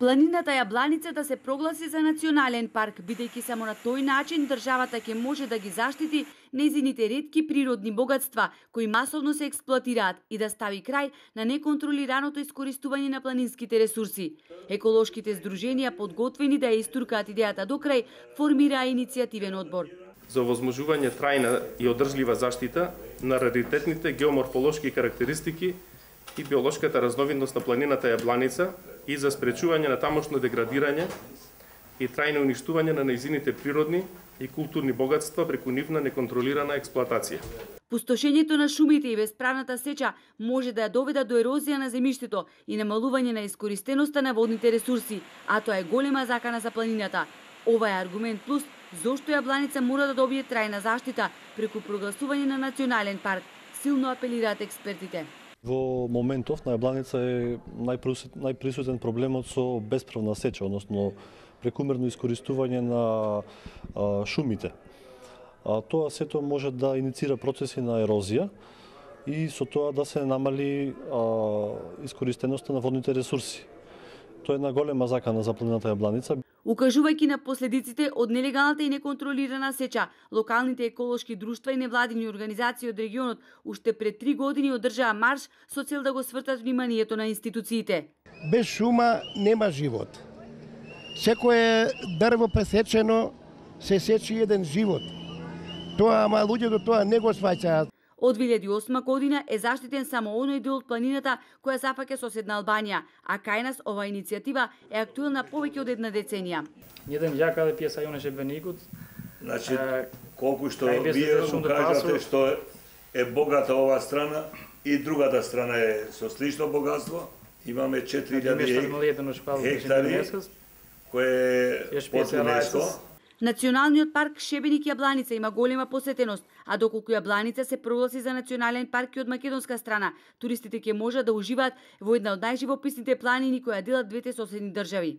Планината Јабланица да се прогласи за национален парк, бидејќи само на тој начин државата ќе може да ги заштити нејзините ретки природни богатства кои масовно се експлоатираат и да стави крај на неконтролираното искористување на планинските ресурси. Еколошките здруженија подготвени да ја истуркаат идејата до крај, формираа иницијативен одбор за овозможување трајна и одржлива заштита на раритетните геоморфолошки карактеристики и биолошката разновидност на планината Јабланица и за спречување на тамошно деградирање и трајно уништување на нејзините природни и културни богатства преку нивна неконтролирана експлоатација. Пустошењето на шумите и бесправната сеча може да ја доведат до ерозија на земјиштето и намалување на искористеноста на водните ресурси, а тоа е голема закана за планината. Ова е аргумент плюс зошто Јабланица мора да добие трајна заштита преку прогласување на национален парк, силно апелираат експертите. Во моментов на Јабланица е најприсутен проблемот со бесправна сеча, односно прекумерно искористување на шумите. Тоа сето може да иницира процеси на ерозија и со тоа да се намали искористеноста на водните ресурси. Тоа е една голема закана за планината Јабланица. Укажувајќи на последиците од нелегалната и неконтролирана сеча, локалните еколошки друштва и невладини организации од регионот уште пред 3 години одржаа марш со цел да го свртат вниманието на институциите. Без шума нема живот. Секое дрво пресечено се сечи еден живот. Тоа, ама луѓето тоа не го сваќаат. Од 2008 година е заштитен само оној дел од планината која зафаќа соседна Албанија, а кај нас ова иницијатива е актуелна повеќе од една деценија. Еден ја каде пиеса јоне шебеникот. Значи, колку што вие го кажате што е богата оваа страна и другата страна е со слично богатство, имаме 4000 хектари кој е под ЮНЕСКО. Националниот парк Шебеник Јабланица има голема посетеност, а доколку Јабланица се прогласи за национален парк и од македонска страна, туристите ќе можат да уживаат во една од најживописните планини која делат двете соседни држави.